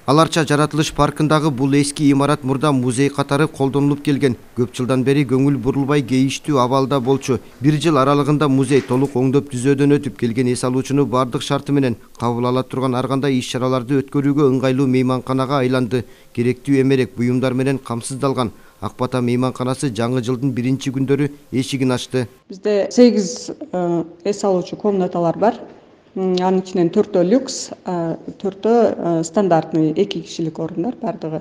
Аларча жаратылыш паркындагы бул эски имарат мурда музей катары колдонулуп келген. Көп жылдан бери көңүл бурулбай кейиштүү абалда болчу. Бир жыл аралыгында музей толук оңдоп түзөөдөн өтүп келген эс алуучуну бардык шарты менен кабыл ала турган ар кандай иш-чараларды өткөрүүгө ыңгайлуу мейманканага айланды. Керектүү эмерек буюмдар менен камсыздалган. Ак Бата мейманканасы жаңы жылдын биринчи күндөрү эшигин ачты. Бизде 8 эс алуучу комнаталар бар. Анын ичинен 4 люкс, 4 стандартный 2 кишилик орундар бардыгы.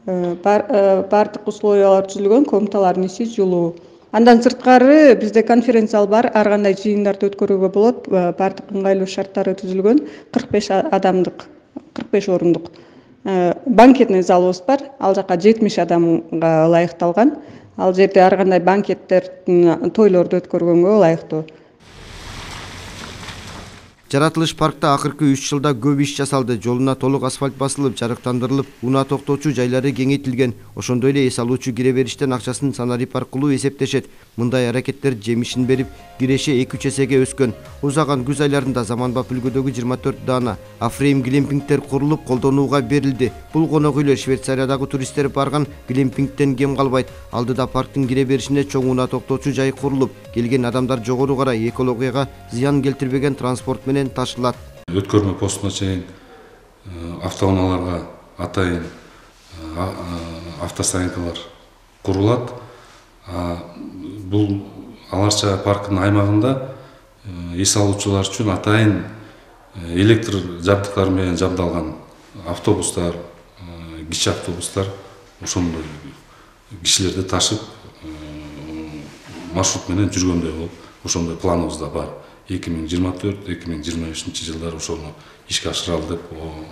Бардык условиялар түзүлгөн, комнаталардын ичи жылуу. Андан сырткары бизде конференция зал бар, ар кандай жыйындарды өткөрүүгө болот. Бардык ыңгайлуу шарттары түзүлгөн, 45 адамдык, 45 орундук банкетный залыбыз бар. Ал жака 70 адамга ылайыкталган. Ал жерде ар кандай банкеттердин, тойлорду өткөргөнгө ылайыктуу. Жаратылыш паркта акыркы 3 жылда көп иш жасалды. Жолуна толук асфальт басылып, жарыктандырылып, унаа токтоочу жайлары кеңейтилген. Ошондой эле эс алуучу кире бериштен акчасын санарип аркылуу эсептешет. Мындай аракеттер жемишин берип, киреше 2-3 эсеге өскөн. Узаган күз айларында заманбап үлгүдөгү 24 даана Афрейм глемпингтер курулуп, колдонууга берилди. Бул конок үйлөр Швейцариядагы туристтер барган глемпингтен кем калбайт. Алдыда парктын кире беришинде чоң унаа токтоочу жай курулуп, келген адамдар жогору карай экологияга зыян келтирбеген транспорт менен ташылат. Өткөрмө постуна чейин автоунааларга атайын автостоянкалар курулат. Бул Аларча паркынын аймагында эс алуучулар үчүн атайын электр жабдыктары менен жабдалган автобустар, кичи автобустар ошондой кишилерди ташып маршрут менен жүргөндөй болуп, ошондой планыбызда бар. 2024-2025 жылдары ошону ишке ашыралы деп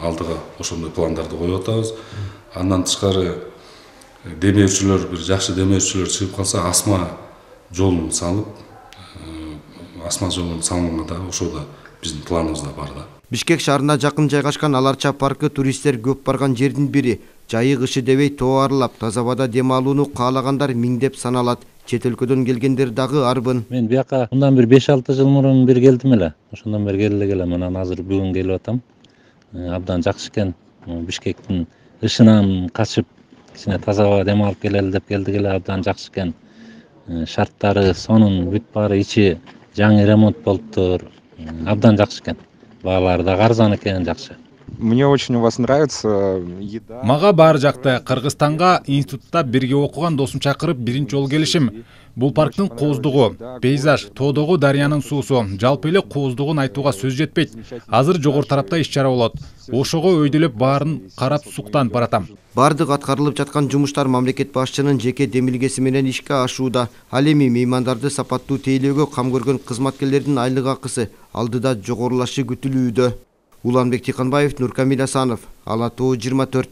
алдыга ошондой пландарды коюп атабыз. Андан тышкары демөөчүлөр, бир жакшы демөөчүлөр чыгып калса, асма жолун салып, асма жолун салганга да ошол да биздин планыбызда бар да. Бишкек шаарына жакын жайгашкан Аларча паркы туристтер көп барган жердин бири. Жайы кышы дебей тоо аралап, таза абада дем алууну каалагандар миңдеп саналат. Чет өлкөдөн келгендер дагы арбын. Мен бияка мындан бир 5-6 жыл мурун бир келдим эле. Ошондон бери келе келем. Анан азыр бүгүн келип атам. Абдан жакшы экен. Бишкектин ышынан качып, кичине таза абада дем алып келели деп келдик эле. Абдан жакшы экен. Шарттары, сонун бүт баары ичи жаңы ремонт болуптур. Абдан жакшы экен. Баалары да арзан экен, жакшы. Мне очень у вас нравится еда. Мага баары жакты. Кыргызстанга институтта бирге окуган досум чакырып биринчи жолу келишим. Бул парктын кооздугу, пейзаж, тоодогу дарыянын суусу, жалпы эле кооздугун айтууга сөз жетпейт. Азыр жогору тарапта иш-чара болот. Ошого өйдөлөп баарын карап суктанып баратам. Бардык аткарылып жаткан жумуштар мамлекет башчынын жеке демилгеси менен ишке ашууда. Ал эми меймандарды сапаттуу тейлөөгө кам көргөн кызматкерлердин айлык акысы алдыда жогорулашы күтүлүүдө. Уланбек Тиканбаев, Нуркамил Асанов, Ала Тоо 24.